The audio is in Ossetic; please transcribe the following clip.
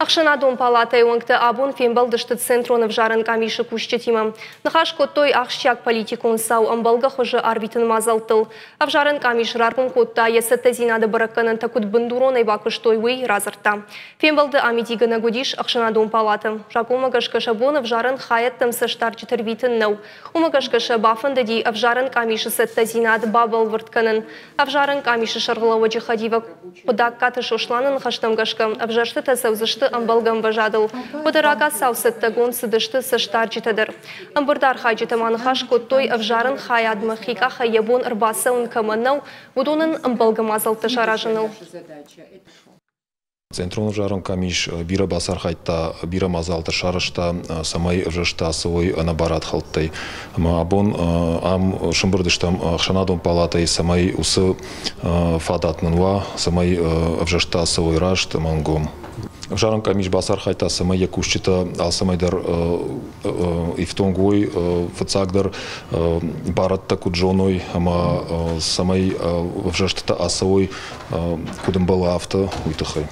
Ӕхсӕнадон палатӕйы уӕнгтӕ абон фембӕлдысты Центрон ӕвзарӕн къамисы кусджытимӕ. Ныхас кодтой ахсджиаг политикон цау ӕмбӕлгӕ хуызы арвитыны мадзӕлттыл. Ӕвзарӕн къамис раргом кодта, йӕ цӕттӕдзинады бӕрӕггӕнӕнтӕ куыд бындуронӕй бакуыстой, уый радзырдта. Фембӕлды амидигӕнӕг уыдис ӕхсӕнадон палатӕ. Закъонмӕ гӕсгӕ сӕ бон ӕвзарӕн хайӕдтӕм цӕстдарджыты рвитын нӕу. Уымӕ гӕсгӕ сӕ бафӕндыди ӕвзарӕн къамисы цӕттӕдзинад бабӕлвырд кӕнын. Ӕвзарӕн къамисы сӕргълӕууӕджы хӕдивӕг Хъуыдаккаты Сосланы ныхӕстӕм гӕсгӕ, ӕвзӕрстытӕ цӕудзысты ӕмбӕлгӕ ӕмвӕзадыл. Уӕдӕ рагацау цӕттӕгонд цыдысты цӕстдарджытӕ дӕр. Ӕмбырды архайджытӕ ма ныхас кодтой, ӕвзарӕн хайадмӕ хи къахӕй йӕ бон ӕрбацӕуын кӕмӕн нӕу, уыдонӕн ӕмбӕлгӕ мадзӕлттӕ саразыныл. Центрон ӕвзарӕн къамис бирӕ бацархайдта, бирӕ мадзалтӕ сарӕзта, цӕмӕй ӕвзӕрстытӕ ацӕуой ӕнӕбарадхӕлдтӕй. Ӕмӕ абон ам сӕмбырд стӕм ӕхсӕнадон палатӕйы, цӕмӕй уыцы фадат нын уа, цӕмӕй ӕвзӕрстытӕ ацӕуой раст ӕмӕ ӕнгом. Ӕвзарӕн къамис бацархайдта, цӕмӕй йӕ кусджытӕ алцӕмӕй дӕр ифтонг уой, фыццагдӕр барадтӕ куыд зоной ӕмӕ цӕмӕй ӕвзӕрстытӕ ацӕуой куыд ӕмбӕлы, афтӕ, уый тыххӕй.